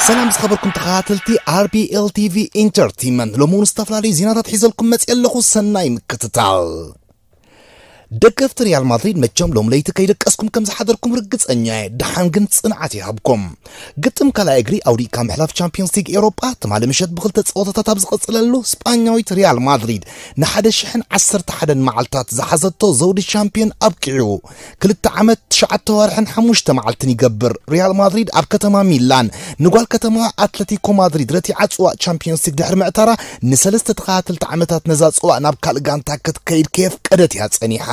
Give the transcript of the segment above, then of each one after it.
ሰላም ዝኸበርኩም ተኸታተልቲ ኣር ቢ ኤል ቲ ቪ ኢንተርቴይንመንት፣ ሎሚ እውን ዝተፈላለዩ ዜናታት ሒዘልኩም መፅእ ኣለኹ። ሰናይ ምክትታል። ደገፍቲ ሪያል ማድሪድ መቸም ሎም ለይቲ ከይደቀስኩም ከም ዝሓደርኩም ርግፀኛ እየ። ደሓን ግን ፅንዓት ይሃብኩም። ግጥም ካልኣይ እግሪ ኣውዲእካ ምሕላፍ ቻምፒዮንስ ሊግ ኤውሮጳ ትማሊ ምሸት ብክልተ ፀወታታት ኣብ ዝቐፅለሉ፣ ስጳኛዊት ሪያል ማድሪድ ንሓደ ሽሕን ዓሰርተ ሓደን መዓልታት ዝሓዘቶ ዘውዲ ቻምፒዮን ኣብቂዑ። ክልተ ዓመት ትሽዓተ ወርሕን ሓሙሽተ መዓልትን ይገብር። ሪያል ማድሪድ ኣብ ከተማ ሚላን ንጓል ከተማ ኣትለቲኮ ማድሪድ ረቲዓ ጽዋእ ቻምፒዮንስ ሊግ ድሕሪ ምዕታራ፣ ንሰለስተ ተኸታተልቲ ዓመታት ነዛ ጽዋእ ናብ ካልእ ጋንታ ክትከይድ ከየፍቀደት እያ ጸኒሓ።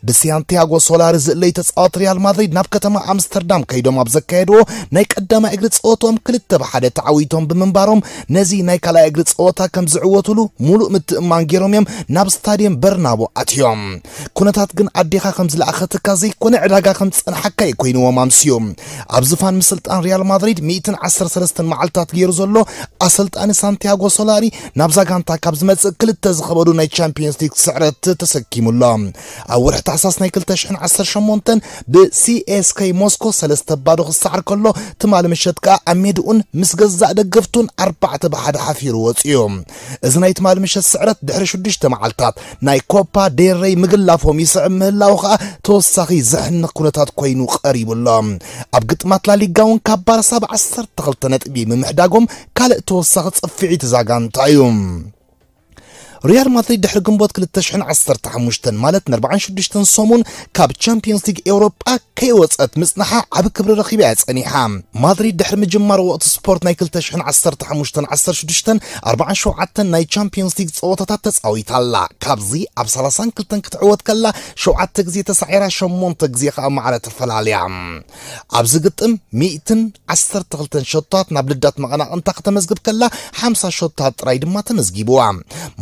ብሳንቲያጎ ሶላሪ ዝእለዩ ተጻወት ሪያል ማድሪድ ናብ ከተማ ኣምስተርዳም ከይዶም ኣብ ዘካየድዎ ናይ ቀዳማይ እግሪ ጸወቶም ክልተ ብሓደ ተዓዊቶም ብምንባሮም፣ ነዚ ናይ ካልኣይ እግሪ ጸወታ ከም ዝዕወቱሉ ሙሉእ ምትእምማን ገይሮም እዮም ናብ ስታድየም በርናቦ ኣትዮም። ኩነታት ግን ኣዴኻ ከም ዝለኣኸትካ ዘይኮነ ዕዳጋ ከም ዝጸንሓካ እዩ ኮይንዎም ኣምስዩ። ኣብ ዝፋን ምስልጣን ሪያል ማድሪድ ሚእትን ዓሰርተ ሰለስተን መዓልታት ገይሩ ዘሎ ኣሰልጣኒ ሳንቲያጎ ሶላሪ ናብዛ ጋንታ ካብ ዝመጽእ ክልተ ዝኸበዱ ናይ ቻምፒዮንስ ሊግ ስዕረት ተሰኪሙ ኣሎ። ኣብ ወርሒ ታሕሳስ ናይ ክልተ ሽሕን ዓሰርተ ሸሞንተን ብ ሲ ኤስ ከይ ሞስኮ ሰለስተ ባዶ ክሰዓር ከሎ፣ ትማሊ ምሸት ከኣ ኣብ ሜድኡን ምስ ገዛእ ደገፍቱን ኣርባዕተ ብሓደ ሓፊሩ ወጺኡ። እዚ ናይ ትማሊ ምሸት ስዕረት ድሕሪ ሽዱሽተ መዓልታት ናይ ኮፓ ዴል ሬይ ምግላፎም ይስዕብ ምህላዉ ከኣ ተወሳኺ ዘሕንኽ ኩነታት ኮይኑ ቀሪቡ ኣሎ። ኣብ ግጥማት ላሊጋ እውን ካብ ባርሳ ብ ዓሰርተ ክልተ ነጥቢ ምምሕዳጎም ካልእ ተወሳኺ ጽፍዒት እዛ ጋንታ እዩ። ሪያል ማድሪድ ድሕሪ ግንቦት ክልተ ሽሕን ዓሰርተ ሓሙሽተን ማለት ን ኣርባዓን ሽዱሽተን ሰሙን ካብ ቻምፒዮንስ ሊግ ኤውሮጳ ከይወጸት ምጽንሓ ዓቢ ክብሪ ረኺባ እያ ጸኒሓ። ማድሪድ ድሕሪ ምጅማር ወቕቲ ስፖርት ናይ ክልተ ሽሕን ዓሰርተ ሓሙሽተን ዓሰርተ ሽዱሽተን ኣርባዓን ሸውዓተን ናይ ቻምፒዮንስ ሊግ ጸወታታት ተጻዊታ ኣላ። ካብዚ ኣብ ሰላሳን ክልተን ክትዕወት ከላ፣ ሸውዓተ ግዜ ተሳዒራ፣ ሸሞንተ ግዜ ከኣ ማዕረ ተፈላልያ። ኣብዚ ግጥም ሚእትን ዓሰርተ ክልተን ሸቶታት ናብ ልዳት መቐናቕንታ ከተመዝግብ ከላ፣ ሓምሳ ሸቶታት ጥራይ ድማ ተመዝጊብዋ።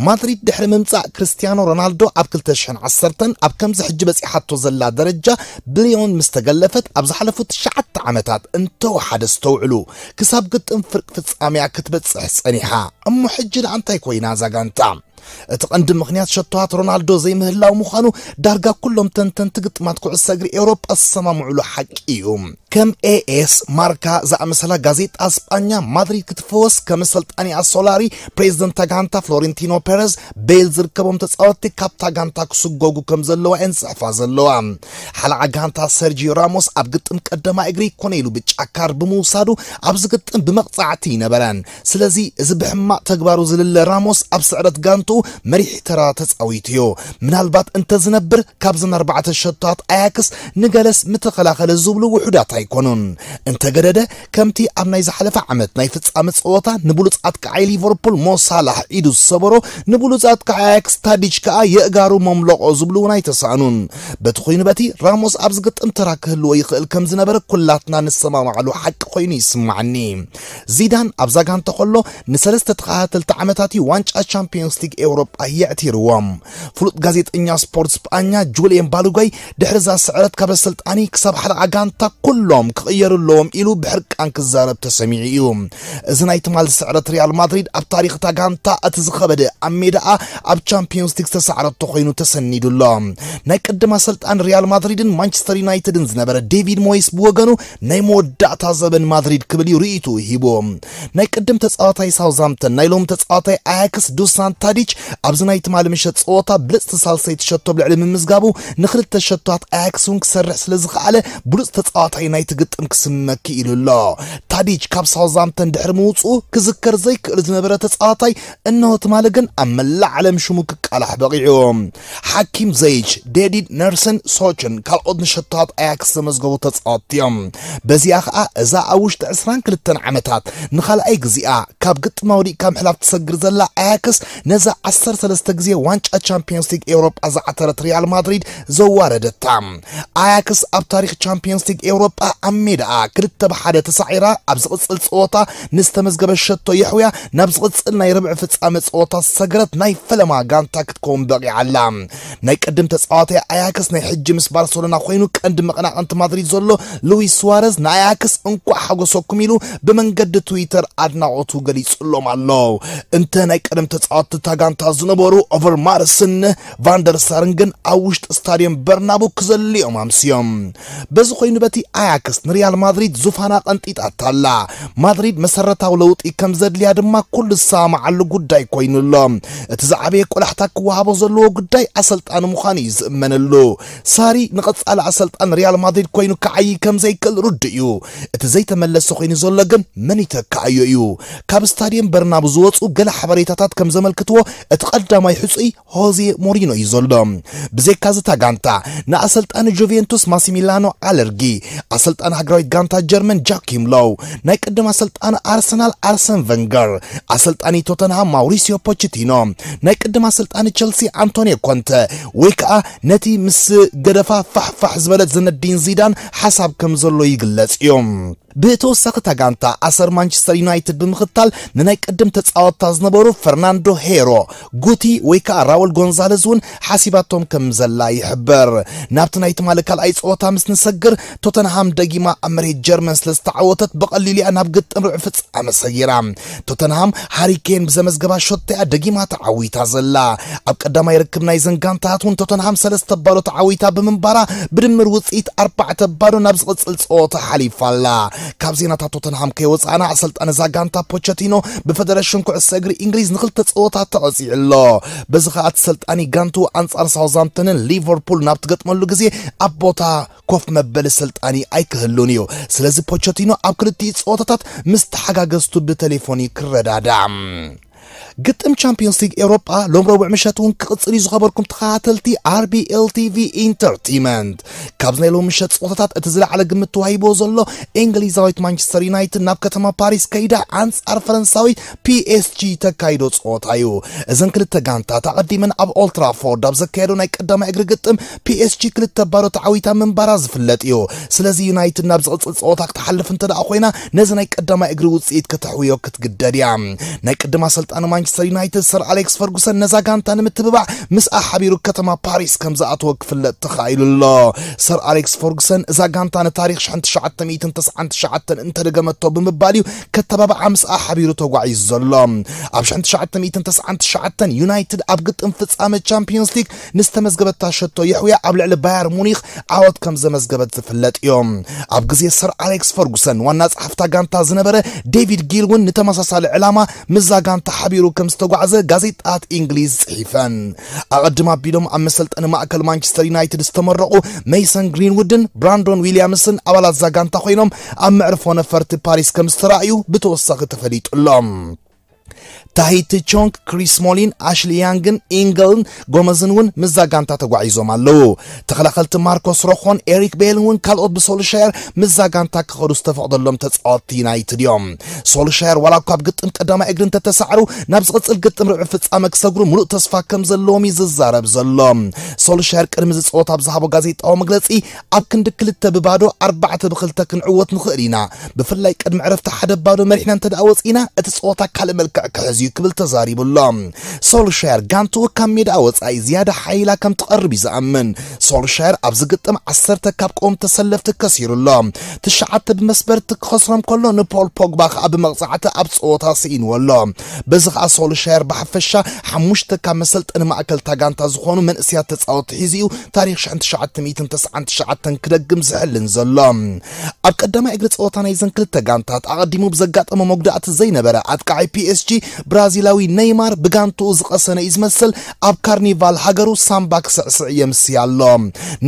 ማድሪድ ድሕሪ ምምጻእ ክርስቲያኖ ሮናልዶ ኣብ ክልተ ሽሕን ዓሰርተን ኣብ ከምዚ ሕጂ በጺሓቶ ዘላ ደረጃ ብሊዮን ምስ ተገለፈት፣ ኣብ ዝሓለፉ ትሽዓተ ዓመታት እንተወሓደ፣ ኣስተውዕሉ፣ ክሳብ ግጥም ፍርቂ ፍጻሜያ ክትበጽሕ ጸኒሓ። እሞ ሕጂ ደኣ እንታይ ኮይና እዛ ጋንታ? እቲ ቀንዲ ምኽንያት ሸቶታት ሮናልዶ ዘይምህላው ምዃኑ ዳርጋ ኩሎም ተንተንቲ ግጥማት ኩዕሶ እግሪ ኤውሮጳ ዝሰማምዑሉ ሓቂ እዩ። ከም ኤ ኤስ ማርካ ዝኣመሰላ ጋዜጣ ስጳኛ፣ ማድሪድ ክትፈወስ ከም ኣሰልጣኒኣ ሶላሪ፣ ፕሬዚደንት ጋንታ ፍሎሬንቲኖ ፔረዝ፣ ቤል ዝርከቦም ተጻወትቲ ካብታ ጋንታ ክስጎጉ ከም ዘለዋ እየን ዝጽሕፋ ዘለዋ። ሓለዓ ጋንታ ሰርጂዮ ራሞስ ኣብ ግጥም ቀዳማይ እግሪ ኮነ ኢሉ ብጫ ካርድ ብምውሳዱ፣ ኣብዚ ግጥም ብመቕጻዕቲ ይነበረን። ስለዚ እዚ ብሕማቕ ተግባሩ ዝልለ ራሞስ ኣብ ስዕረት ጋንትኡ መሪሕ ተራ ተጻዊቱ እዩ። ምናልባት እንተዝነብር ካብዘን ኣርባዕተ ሸቶታት ኣያክስ ንገለስ ምተኸላኸለ ዝብሉ ውሑዳት ኣይኮኑን። እንተገደደ፣ ከምቲ ኣብ ናይ ዝሓለፈ ዓመት ናይ ፍጻመ ጸወታ ንብሉጽ ኣጥቃዓይ ሊቨርፑል ሞ ሳላሕ ኢዱ ዝሰበሮ፣ ንብሉጽ ኣጥቃዓይ ኣያክስ ታዲች ከኣ የእጋሩ መምለቖ ዝብሉ እውን ኣይተሳእኑን። በቲ ኮይኑ በቲ ራሞስ ኣብዚ ግጥም ተራ ክህልዎ ይኽእል ከም ዝነበረ ኩላትና ንሰማማዕሉ ሓቂ ኮይኑ ይስማዓኒ። ዚዳን ኣብዛ ጋንታ ከሎ ንሰለስተ ተኸታተልቲ ዓመታት እዩ ዋንጫ ቻምፒዮንስ ሊግ ኤውሮጳ የዕቲርዎም። ፍሉጥ ጋዜጠኛ ስፖርት ስጳኛ ጁልየን ባሉጓይ ድሕሪ እዛ ስዕረት ካብ ኣሰልጣኒ ክሳብ ሓለቓ ጋንታ ኩሎም ክቕየሩ ኣለዎም ኢሉ ብሕርቃን ክዛረብ ተሰሚዑ እዩ። እዚ ናይ ትማሊ ስዕረት ሪያል ማድሪድ ኣብ ታሪኽ እታ ጋንታ እቲ ዝኸበደ ኣብ ሜዳኣ ኣብ ቻምፒዮንስ ሊግ ዝተሳዕረቶ ኮይኑ ተሰኒዱ ኣሎ። ናይ ቅድም ኣሰልጣኒ ሪያል ማድሪድን ማንቸስተር ዩናይትድን ዝነበረ ዴቪድ ሞይስ ብወገኑ ናይ መወዳእታ ዘበን ማድሪድ ክብል እዩ ርእይትኡ ሂቡ። ናይ ቅድም ተጻዋታይ ሳውዝሃምፕተን ናይ ሎም ተጻዋታይ ኣያክስ ዱሳን ታዲች ኣብዚ ናይ ትማሊ ምሸት ጸወታ ብልጽቲ ሳልሰይቲ ሸቶ ኣብ ልዕሊ ምምዝጋቡ ንክልተ ሸቶታት ኣያክስ እውን ክሰርሕ ስለ ዝኸኣለ ብሉጽ ተጻዋታይ ናይቲ ግጥም ክስመኪ ኢሉ ኣሎ። ታዲች ካብ ሳውዝሃምፕተን ድሕሪ ምውጽኡ ክዝከር ዘይክእል ዝነበረ ተጻዋታይ እነሆ ትማሊ ግን ኣብ መላእ ዓለም ሽሙ ክቃላሕ በቒዑ። ሓኪም ዘይች፣ ዴዲድ ነርሰን ሶችን ካልኦት ንሸቶታት ኣያክስ ዘመዝገቡ ተጻወትቲ እዮም። በዚኣ ኸኣ እዛ ኣብ ውሽጢ ዕስራን ክልተን ዓመታት ንኻልኣይ ግዜኣ ካብ ግጥማ ወዲቕካ ምሕላፍ ትሰግር ዘላ ኣያክስ ነዛ ዓሰርተ ሰለስተ ግዜ ዋንጫ ቻምፒዮንስ ሊግ ኤውሮጳ ዝዓተረት ሪያል ማድሪድ ዘዋረደታ። ኣያክስ ኣብ ታሪኽ ቻምፒዮንስ ሊግ ኤውሮጳ ኣብ ሜዳኣ ክልተ ብሓደ ተሳዒራ ኣብ ዝቕጽል ጸወታ ንዝተመዝገበ ሸቶ የሕውያ ናብ ዝቕጽል ናይ ርብዒ ፍጻመ ጸወታ ዝሰገረት ናይ ፈለማ ጋንታ ክትከውን በቒዓ ኣላ። ናይ ቅድም ተጻዋታይ ኣያክስ ናይ ሕጂ ምስ ባርሰሎና ኮይኑ ቀንዲ መቐናቕንቲ ማድሪድ ዘሎ ሉዊስ ሱዋረዝ ንኣያክስ እንቋዕ ሓጎሰኩም ኢሉ ብመንገዲ ትዊተር ኣድናቖቱ ገሊጹሎም ኣሎ። እንተ ናይ ቀደም ተጻወትቲ እታ ጋንታ ዝነበሩ ኦቨርማርስን ቫንደርሳርን ግን ኣብ ውሽጢ ስታድየም በርናቡ ክዘልዮም ኣምስዮም። በዚ ኮይኑ በቲ ኣያክስ ንሪያል ማድሪድ ዙፋና ቀንጢጣታ ኣላ። ማድሪድ መሰረታዊ ለውጢ ከም ዘድልያ ድማ ኩሉ ዝሰማማዓሉ ጉዳይ ኮይኑ ኣሎ። እቲ ዝዓበየ ቆላሕታ ክወሃቦ ዘለዎ ጉዳይ ኣሰልጣኒ ምዃኑ እዩ ዝእመነሉ። ሳሪ ንቐጻሊ ኣሰልጣን ሪያል ማድሪድ ኮይኑ ክዓዪ ከም ዘይክእል ርዱእ እዩ። እቲ ዘይተመለሰ ኮይኑ ዘሎ ግን መን ይተክኣዮ እዩ። ካብ ስታድየም በርናቡ ዝወፁ ገለ ሓበሬታታት ከም ዘመልክትዎ እቲ ቀዳማይ ሕፁይ ሆዜ ሞሪኖ እዩ ዘሎ። ብዘይካ እዚ እታ ጋንታ ንኣሰልጣኒ ጁቬንቱስ ማሲሚላኖ ኣለርጊ፣ ኣሰልጣኒ ሃገራዊት ጋንታ ጀርመን ጃኪም ሎው፣ ናይ ቅድም ኣሰልጣኒ ኣርሰናል ኣርሰን ቨንገር፣ ኣሰልጣኒ ቶተንሃም ማውሪሲዮ ፖቸቲኖ፣ ናይ ቅድም ኣሰልጣኒ ቸልሲ ኣንቶኒዮ ኮንተ፣ ወይ ከዓ ነቲ ምስ ገደፋ ፋሕፋሕ ዝበለት ዝነዲን ዚዳን ሓሳብ ከም ዘሎ ይግለጽ እዩ። ብተወሳኺ እታ ጋንታ ኣሰር ማንቸስተር ዩናይትድ ብምኽታል ንናይ ቅድም ተጻወትታ ዝነበሩ ፈርናንዶ ሄሮ፣ ጉቲ ወይ ከዓ ራውል ጎንዛለዝ እውን ሓሲባቶም ከም ዘላ ይሕበር። ናብቲ ናይ ትማሊ ካልኣይ ጸወታ ምስ ንሰግር፣ ቶተንሃም ደጊማ ኣብ መሬት ጀርመን ስለ ዝተዓወተት ብቐሊሉ እያ ናብ ግጥም ርብዒ ፍጻመ ሰጊራ። ቶተንሃም ሃሪ ኬን ብዘመዝገባ ሸቶ እያ ደጊማ ተዓዊታ ዘላ። ኣብ ቀዳማይ ርክብ ናይዘን ጋንታታት እውን ቶተንሃም ሰለስተ ባዶ ተዓዊታ ብምንባራ ብድምር ውጽኢት ኣርባዕተ ባዶ ናብ ዝቕጽል ጸወታ ሓሊፋ ኣላ። ካብ ዜናታት ቶተንሃም ከይወጻእና ኣሰልጣኒ እዛ ጋንታ ፖቸቲኖ ብፈደረሽን ኩዕሶ እግሪ እንግሊዝ ንኽልተ ጸወታ ተቐጺዑ ኣሎ። በዚ ኸኣ እቲ ሰልጣኒ ጋንቱ ኣንጻር ሳውዝሃምፕተንን ሊቨርፑል ናብ ትገጥመሉ ግዜ ኣብ ቦታ ኮፍ መበሊ ሰልጣኒ ኣይክህሉን እዩ። ስለዚ ፖቸቲኖ ኣብ ክልቲኡ ጸወታታት ምስ ተሓጋገዝቱ ብቴሌፎን እዩ ክረዳዳእ። ግጥም ቻምፒዮንስ ሊግ ኤውሮጳ ሎም ረቡዕ ምሸት እውን ክቕጽል እዩ። ዝኸበርኩም ተኸታተልቲ ኣር ቢ ኤል ቲ ቪ ኢንተርቴይመንት፣ ካብዚ ናይ ሎም ምሸት ጸወታታት እቲ ዝለዓለ ግምት ተዋሂቦ ዘሎ እንግሊዛዊት ማንቸስተር ዩናይትድ ናብ ከተማ ፓሪስ ከይዳ ኣንጻር ፈረንሳዊት ፒ ኤስ ጂ ተካይዶ ጸወታ እዩ። እዘን ክልተ ጋንታት ኣቐዲመን ኣብ ኦልትራፎርድ ኣብ ዘካየዶ ናይ ቀዳማይ እግሪ ግጥም ፒ ኤስ ጂ ክልተ ባዶ ተዓዊታ ምንባራ ዝፍለጥ እዩ። ስለዚ ዩናይትድ ናብ ዝቕጽል ጸወታ ክትሓልፍ እንተ ደኣ ኮይና ነዚ ናይ ቀዳማይ እግሪ ውጽኢት ከተሕውዮ ክትግደድ እያ። ናይ ቅድም ኣሰልጣኒ ማንቸስተር ዩናይትድ ሰር ኣሌክስ ፈርጉሰን ነዛ ጋንታ ንምትብባዕ ምስኣ ሓቢሩ ከተማ ፓሪስ ከም ዝኣተወ ክፍለጥ ተኻኢሉ ኣሎ። ሰር ኣሌክስ ፈርጉሰን እዛ ጋንታ ንታሪኽ ሽሕን ትሽዓተ ሚእትን ተስዓን ትሽዓተን እንተደገመቶ ብምባል እዩ ከተባብዓ ምስኣ ሓቢሩ ተጓዒዙ ዘሎ። ኣብ ሽሕን ትሽዓተ ሚእትን ተስዓን ትሽዓተን ዩናይትድ ኣብ ግጥም ፍጻመ ቻምፒዮንስ ሊግ ንዝተመዝገበታ ሸቶ የሕውያ ኣብ ልዕሊ ባየር ሙኒኽ ዓወት ከም ዘመዝገበት ዝፍለጥ እዩ። ኣብ ግዜ ሰር ኣሌክስ ፈርጉሰን ዋና ጸሓፍታ ጋንታ ዝነበረ ዴቪድ ጊል እውን ንተመሳሳሊ ዕላማ ምስዛ ጋንታ ሓቢሩ ከም ዝተጓዕዘ ጋዜጣታት እንግሊዝ ጽሒፈን። ኣቐድም ኣቢሎም ኣብ መሰልጠኒ ማእከል ማንቸስተር ዩናይትድ ዝተመረቑ ሜሰን ግሪንውድን ብራንዶን ዊልያምስን ኣባላት እዛ ጋንታ ኮይኖም ኣብ መዕርፎ ነፈርቲ ፓሪስ ከም ዝተራእዩ ብተወሳኺ ተፈሊጡ ኣሎ። ታሂቲ ቾንግ፣ ክሪስ ስሞሊን፣ ኣሽሊ ያንግን ኢንገልን ጎመዝን እውን ምስዛ ጋንታ ተጓዒዞም ኣለዉ። ተኸላኸልቲ ማርኮስ ሮኾን ኤሪክ ቤልን እውን ካልኦት ብሶልሻየር ምስዛ ጋንታ ክኸዱ ዝተፈቕደሎም ተጻወትቲ ዩናይትድ እዮም። ሶልሻየር ዋላ እኳ ኣብ ግጥም ቀዳማይ እግሪ እንተተሳዕሩ፣ ናብ ዝቕጽል ግጥም ርብዒ ፍጻመ ክሰግሩ ሙሉእ ተስፋ ከም ዘለዎም እዩ ዝዛረብ ዘሎ። ሶልሻየር ቅድሚ እዚ ጸወታ ኣብ ዝሃቦ ጋዜጣዊ መግለጺ፣ ኣብ ክንዲ ክልተ ብባዶ ኣርባዕተ ብክልተ ክንዕወት ንኽእል ኢና። ብፍላይ ቅድሚ ዕረፍቲ ሓደ ባዶ መሪሕና እንተ ደኣ ወጺእና፣ እቲ ጸወታ ካልእ መልክዕ ክሕዝ እዩ ክብል ተዛሪቡ ኣሎ። ሶልሻየር ጋንትኡ ካብ ሜዳ ወጻኢ ዝያዳ ሓይላ ከም ትቐርብ እዩ ዝኣምን። ሶልሻየር ኣብዚ ግጥም ዓሰርተ ካብ ቀወም ተሰለፍቲ ከሲሩ ኣሎ። ትሽዓተ ብመስበርቲ ክኸስሮም ከሎ ንፖል ፖግባ ከኣ ብመቕጻዕቲ ኣብ ጸወታ ስኢንዎ ኣሎ። በዚ ከኣ ሶልሻየር ብሓፈሻ ሓሙሽተ ካብ መሰልጠኒ ማእከል እታ ጋንታ ዝኾኑ መንእሰያት ተጻወትቲ ሒዙ እዩ ታሪኽ ሽሕን ትሽዓተ ሚእትን ተስዓን ትሽዓተን ክደግም ዝሕልን ዘሎ። ኣብ ቀዳማይ እግሪ ጸወታ ናይዘን ክልተ ጋንታት ኣቐዲሙ ብዘጋጠሞ መጉዳእቲ ዘይነበረ ኣጥቃዓይ ፒ ኤስ ጂ ብራዚላዊ ኔይማር ብጋንትኡ ዝቐሰነ እዩ ዝመስል ኣብ ካርኒቫል ሃገሩ ሳምባ ክስዕስዕ የምስያ ኣሎ።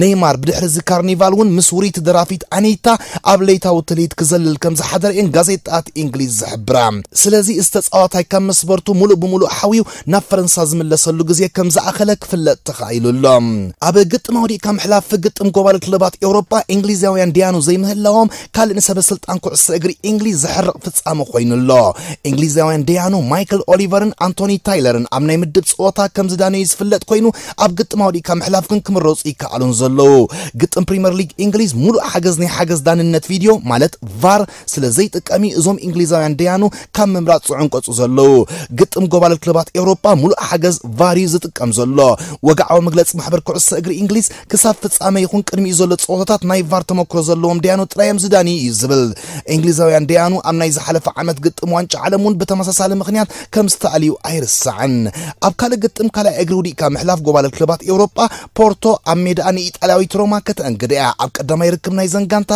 ኔይማር ብድሕሪ እዚ ካርኒቫል እውን ምስ ውርይቲ ደራፊት ኣኒታ ኣብ ለይታዊ ትልሂት ክዘልል ከም ዝሓደረ እየን ጋዜጣታት እንግሊዝ ዝሕብራ። ስለዚ እዚ ተጻዋታይ ካብ መስበርቱ ሙሉእ ብሙሉእ ሓውዩ ናብ ፈረንሳ ዝምለሰሉ ግዜ ከም ዝኣኸለ ክፍለጥ ተኻኢሉ ኣሎ። ኣብ ግጥም ኣውዲቕካ ምሕላፍ ግጥም ጎባልል ክለባት ኤውሮጳ እንግሊዛውያን ደያኑ ዘይምህላዎም ካልእ ንሰበ ስልጣን ኩዕሶ እግሪ እንግሊዝ ዘሕርቕ ፍጻመ ኮይኑ ኣሎ። እንግሊዛውያን ደያኑ ማይክ ማይክል ኦሊቨርን ኣንቶኒ ታይለርን ኣብ ናይ ምድብ ጸወታ ከም ዝዳነዩ ዝፍለጥ ኮይኑ፣ ኣብ ግጥም ኣውዲቕካ ምሕላፍ ግን ክምረጹ ይከኣሉን ዘለዉ። ግጥም ፕሪምየር ሊግ እንግሊዝ ሙሉእ ሓገዝ ናይ ሓገዝ ዳንነት ቪድዮ ማለት ቫር ስለ ዘይጥቀም እዩ እዞም እንግሊዛውያን ደያኑ ካብ ምምራጽ ዝዕንቀጹ ዘለዉ። ግጥም ጎባልል ክለባት ኤውሮጳ ሙሉእ ሓገዝ ቫር እዩ ዝጥቀም ዘሎ። ወግዓዊ መግለጺ ማሕበር ኩዕሶ እግሪ እንግሊዝ ክሳብ ፍጻመ ይኹን ቅድሚኡ ዘሎ ጸወታታት ናይ ቫር ተመክሮ ዘለዎም ደያኑ ጥራይ እዮም ዝዳንዩ እዩ ዝብል። እንግሊዛውያን ደያኑ ኣብ ናይ ዝሓለፈ ዓመት ግጥም ዋንጫ ዓለም እውን ብተመሳሳሊ ምኽንያት ከም ዝተኣልዩ ኣይርሳዕን። ኣብ ካልእ ግጥም ካልኣይ እግሪ ውዲቕካ ምሕላፍ ጎባልል ክለባት ኤውሮጳ ፖርቶ ኣብ ሜዳኣ ንኢጣልያዊት ሮማ ከተእንግድ እያ። ኣብ ቀዳማይ ርክብ ናይ ዘንጋንታ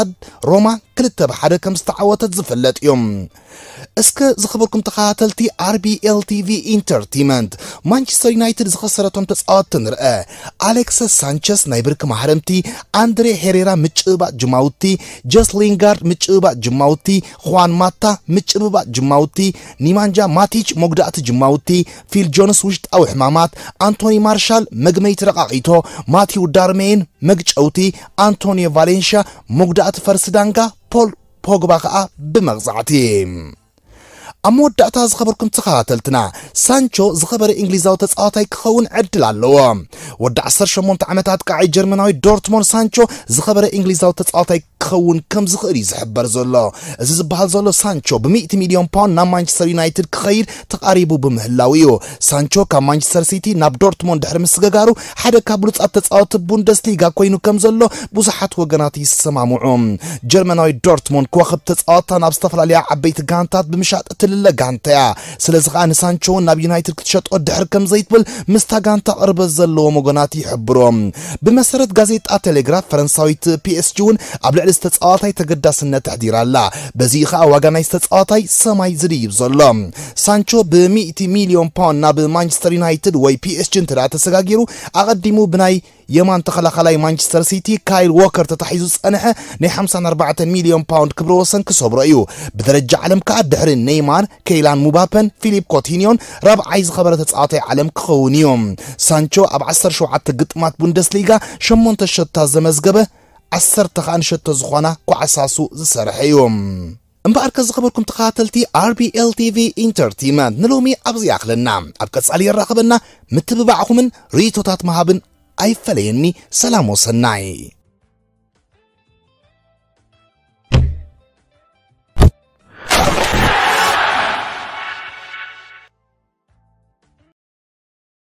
ሮማ ክልተ ብሓደ ከም ዝተዓወተት ዝፍለጥ እዩ። እስከ ዝኸበርኩም ተኸታተልቲ ኣርቢኤል ቲቪ ኢንተርቴመንት፣ ማንቸስተር ዩናይትድ ዝኸሰረቶም ተጻወትቲ ንርአ። ኣሌክሰስ ሳንቸስ ናይ ብርኪ ማህረምቲ፣ ኣንድሬ ሄሬራ ምጭብባጥ ጅማውቲ፣ ጀስ ሊንጋርድ ምጭብባጥ ጅማውቲ፣ ኹዋን ማታ ምጭብባጥ ጅማውቲ፣ ኒማንጃ ማቲች መጉዳእቲ ጅማውቲ፣ ፊል ጆንስ ውሽጣዊ ሕማማት፣ ኣንቶኒ ማርሻል መግመይቲ ረቓቒቶ፣ ማቲው ዳርሜን መግጨውቲ፣ ኣንቶኒዮ ቫሌንሻ መጉዳእቲ ፈርሲ ዳንጋ፣ ፖል ፖግባ ከኣ ብመቕጻዕቲ። ኣብ መወዳእታ ዝኸበርኩም ተኸታተልትና፣ ሳንቾ ዝኸበረ እንግሊዛዊ ተጻዋታይ ክኸውን ዕድል ኣለዎ። ወዲ ዓሰርተ ሸሞንተ ዓመት ኣጥቃዓይ ጀርመናዊ ዶርትሞንድ ሳንቾ ዝኸበረ እንግሊዛዊ ተጻዋታይ ክኸውን ከም ዝኽእል እዩ ዝሕበር ዘሎ። እዚ ዝበሃል ዘሎ ሳንቾ ብሚእቲ ሚልዮን ፓውንድ ናብ ማንቸስተር ዩናይትድ ክኸይድ ተቓሪቡ ብምህላው እዩ። ሳንቾ ካብ ማንቸስተር ሲቲ ናብ ዶርትሞንድ ድሕሪ ምስግጋሩ ሓደ ካብ ብሉጻት ተጻወትቲ ቡንደስሊጋ ኮይኑ ከም ዘሎ ብዙሓት ወገናት ይሰማምዑ። ጀርመናዊ ዶርትሞንድ ከዋኽብቲ ተጻወትታ ናብ ዝተፈላለያ ዓበይቲ ጋንታት ብምሻጥ እትልለ ጋንታ እያ። ስለዚ ከኣ ንሳንቾ እውን ናብ ዩናይትድ ክትሸጦ ድሕር ከም ዘይትብል ምስታ ጋንታ ቅርበት ዘለዎም ወገናት ይሕብሩ። ብመሰረት ጋዜጣ ቴሌግራፍ ፈረንሳዊት ፒኤስጂ እውን ኣብ ልዕሊ ዝተጻዋታይ ተገዳስነት ኣሕዲራ ኣላ። በዚ ከኣ ዋጋ ናይ ዝተጻዋታይ ሰማይ ዝድይብ ዘሎ። ሳንቾ ብሚእቲ ሚልዮን ፓውንድ ናብ ማንቸስተር ዩናይትድ ወይ ፒኤስጂ እንተ ደኣ ተሰጋጊሩ፣ ኣቐዲሙ ብናይ የማን ተኸላኻላይ ማንቸስተር ሲቲ ካይል ዎከር ተታሒዙ ዝጸንሐ ናይ ሓምሳን ኣርባዕተን ሚልዮን ፓውንድ ክብረ ወሰን ክሰብሮ እዩ። ብደረጃ ዓለም ከኣ ድሕሪ ኔይማር፣ ኬይላን ሙባፐን ፊሊፕ ኮቲኒዮን ራብዓይ ዝኸበረ ተጻዋታይ ዓለም ክኸውን እዩ። ሳንቾ ኣብ ዓሰርተ ሸውዓተ ግጥማት ቡንደስሊጋ ሸሞንተ ሸቶታት ዘመዝገበ፣ ዓሰርተ ከኣ ንሸቶ ዝኾና ኳዕሳሱ ዝሰርሐ እዩ። እምበኣርከ ዝኸበርኩም ተኸታተልቲ ኣርቢኤል ቲቪ ኢንተርቴመንት ንሎሚ ኣብዚ ይኣኽለና። ኣብ ቀጻሊ የራኽበና። ምትብባዕኹምን ርእይቶታት ምሃብን ኣይፈለየኒ። ሰላም ወሰናይ።